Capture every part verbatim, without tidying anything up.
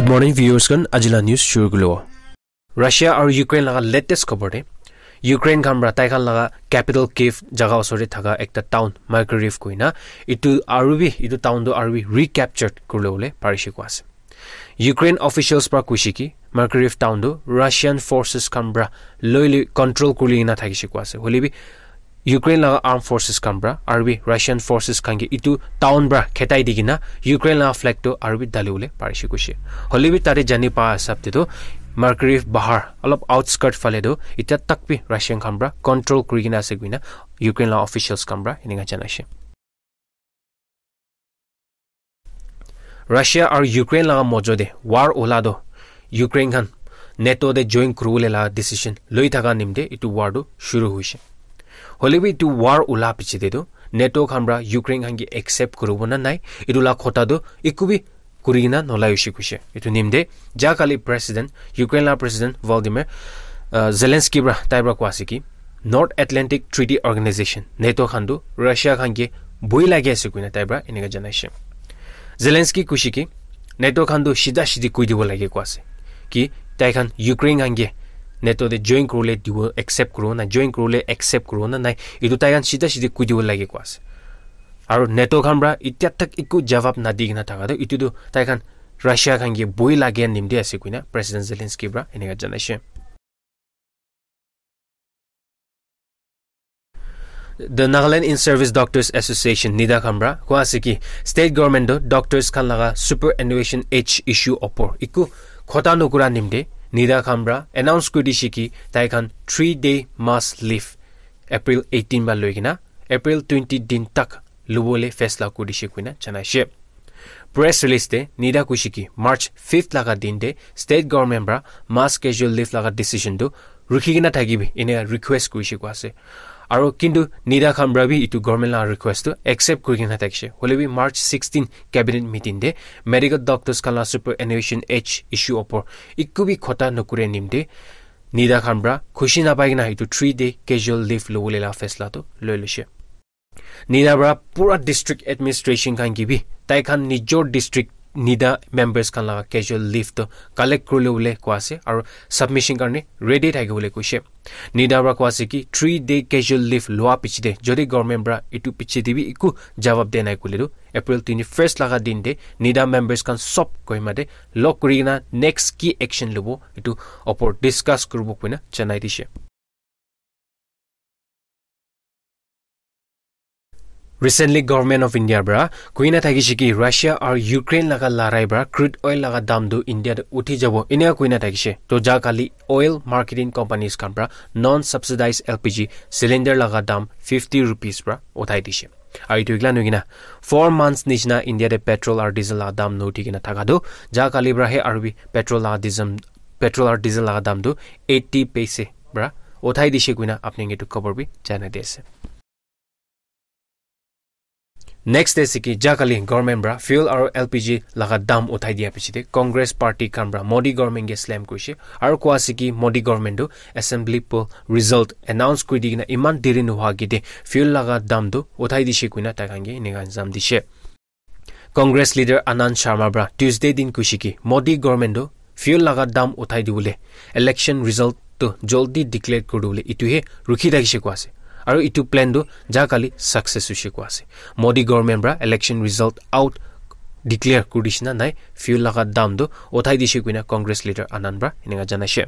Good morning, viewers khan. Ajila news shuru kulo. Russia aru Ukraine laga latest khobor te, Ukraine khan pra tai khan laga capital Kyiv jaga osor te thaka ekta town Mykolaiv koina, itu aru bi, itu town tu aru bi recaptured kuribole parishe koa ase. Ukraine officials pra kuishe ki Mykolaiv town tu Russian forces khan pra loi loi control kuri kena thakishe koa ase. Hoile bi Ukraine laga armed forces khan pra aru bi Russian forces khan ke itu town pra khetai di kena Ukraine laga flag tu aru bi dali bole parishe koishe. Hoile bi tate jani pa hisab te tu Mykolaiv bahar olop outskirt phale tu itya tak bi Russian khan pra control kuri kena ase koina Ukraine laga officials khan pra eninka janaishe. Russia aru Ukraine laga mojo te war ula do Ukraine khan NATO te join kuribole laga decision loi thaka nimte itu war tu shuru hoishe. Hoile bi itu war ula piche te tu NATO khan pra Ukraine khan ke accept kuribo na nai, itu laga khota tu eku bi kuri kena nolai hoishe koishe. Itu nimte ja kali President, Ukraine laga President Volodymyr, uh, Zelensky pra tai pra koa ase ki North Atlantic Treaty Organization, NATO khan tu Russia khan ke boi lage ase koina tai pra eninka janaishe. Zelensky kuishe ki NATO khan tu sida sidi koi dibo lage koa ase ki tai khan Ukraine khan ke NATO te join kuribole dibo accept kuribo na, join kuribole accept kuribo na nai, itu tai khan sida sidi koi dibo lage koa ase. Aru NATO khan pra itya tak eku jawab nadi kena thaka tu itu tu tai khan Russia khan ke boi lage nimte ase koina President Zelensky pra eninka janaishe. The Nagaland In-Service Doctors Association, NIDA khan pra koa ase ki state government tu doctors khan laga superannuation age issue opor eku khota nokura nimte NIDA khan pra announce kuri dishe ki tai khan three day mass leave April eighteen pra loi kena April twenty din tak lubole faisla kuri dishe koina janaishe. Press release te NIDA kuishe ki March fifth laga din te state government pra mass casual leave laga decision tu rukhi kena thakibi ene request kurishe koa ase. Aru kintu NIDA khan pra bi itu government laga request tu accept kuri kena thakishe. Hoile bi March sixteen cabinet meeting te medical doctors khan laga superannuation age issue opor eku bi khota nokure nimte NIDA khan pra khushi napai kena itu three day casual leave lubole laga faisla tu loi loishe. NIDA pra pura district administration khan ke bi tai khan nijor district NIDA members khan laga casual leave to collect kuribole koa ase aru submission karne ready thakibole koishe. NIDA pra koa ase ki three day casual leave lua piche te jodi government pra itu piche te bi eku jawab de nai koile tu April twenty-first laga din te NIDA members khan sob Kohima te log kuri kena next ki action lubo itu opor discuss kuribo koina janai dishe. Recently, Government of India pra koina thakishe ki Russia aru Ukraine laga larai pra crude oil laga dam tu India te uthi jabo enia koina thakishe. To ja kali oil marketing companies khan pra non subsidized L P G cylinder laga dam fifty rupees pra uthai dishe. Aru itu ekla nohoi kena four months nishina India te petrol aru diesel laga dam nuthi kena thaka tu ja kali pra he aru bi petrol laga diesel, petrol aru diesel laga dam tu eighty paise pra uthai dishe koina apni ke tu khobor bi janai di ase. Next te ase ki ja kali government pra fuel aru L P G laga dam uthai dia piche te Congress party khan pra Modi government ke slam kurishe aru koa ase ki Modi government tu assembly poll result announce kuri di kena iman deri nohua agete fuel laga dam tu uthai dishe koina tai khan ke enika ilzam dishe. Congress leader Anand Sharma pra Tuesday din kuishe ki Modi government tu fuel laga dam uthai dibole election result tu joldi declare kuri dibole itu he rukhi thakishe koa ase. Aru itu plan tu ja kali success hoishe koa ase. Modi government pra election result out declare kuri dishe na nai fuel laga dam tu uthai dishe koina Congress leader Anand pra enika janaishe.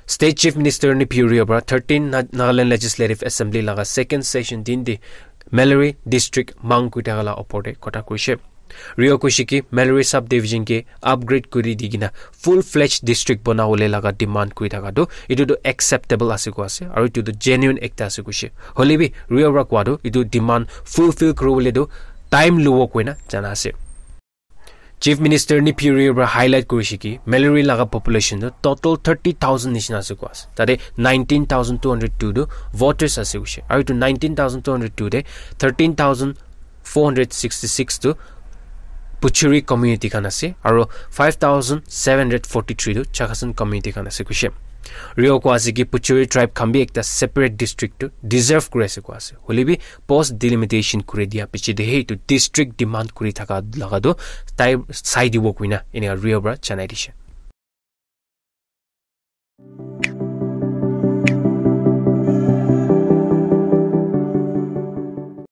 State Chief Minister Neiphiu Rio pra thirteen Na-, Nagaland Legislative Assembly laga second session din te Mellory District mang kuri thaka la opor te kotha kurishe. Rio kuishe ki Mellory Subdivision ke upgrade kuri di kena full-fledged district banabole laga demand kuri thaka tu itu tu acceptable ase koa ase aru itu tu genuine ekta ase kuishe. Hoile bi Rio pra koa tu itu demand fulfill kuribole tu time lubo koina jana ase. Chief Minister Neiphiu Rio pra highlight kurishe ki Mellory laga population tu total thirty thousand nishina ase koa ase. Tate nineteen thousand two hundred two tu voters ase kuishe. Aru itu nineteen thousand two hundred two te thirteen thousand four hundred sixty-six tu Pochury community khan ase aru five thousand seven hundred forty-three tu Chakhesang community khan ase kuishe. Rio koi ase ki Pochuri tribe khan bi ekta separate district tu deserve kuri ase koi ase. Hoile bi post delimitation kuri dia piche de he etu district demand kuri thaka laga tu tai sai dibo koina enia Rio para janai dishe.